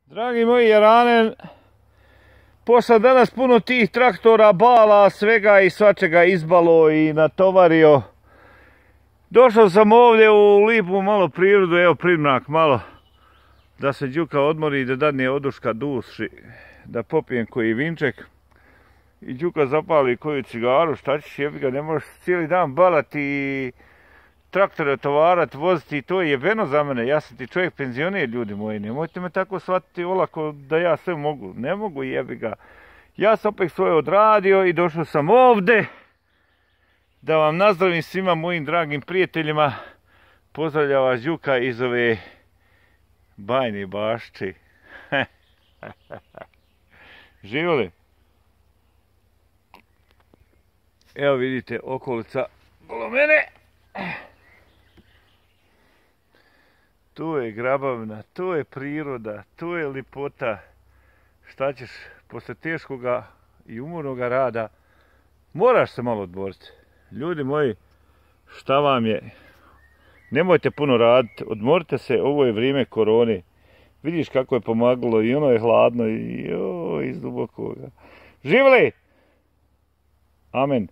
Dragi moji Jaranen, posle danas puno tih traktora, bala, svega i svačega izbalo i natovario. Došao sam ovdje u lipu malo prirodu, evo primrak malo, da se Đuka odmori i da dadne oduška duši, da popijem koji vinček. I Đuka zapali koju cigaru, šta ćeš, jebi ga, ne možeš cijeli dan balati i traktore tovarat, voziti, to je jebeno za mene. Ja sam ti čovjek penzioner, ljudi moji, nemojte me tako shvatiti olako da ja sve mogu. Ne mogu, jebi ga. Ja sam opet svoje odradio i došao sam ovdje da vam nazdravim svima mojim dragim prijateljima. Pozdravlja vas Đuka iz ove Bajne Bašče. Živjeli? Evo vidite okolica okolo mene. Tu je grabavina, tu je priroda, tu je lipota. Šta ćeš, posle teškoga i umornoga rada, moraš se malo odmoriti. Ljudi moji, šta vam je? Nemojte puno raditi, odmorite se, ovo je vrijeme korone. Vidiš kako je pomagalo i ono je hladno i iz dubokoga. Živjeli! Amen.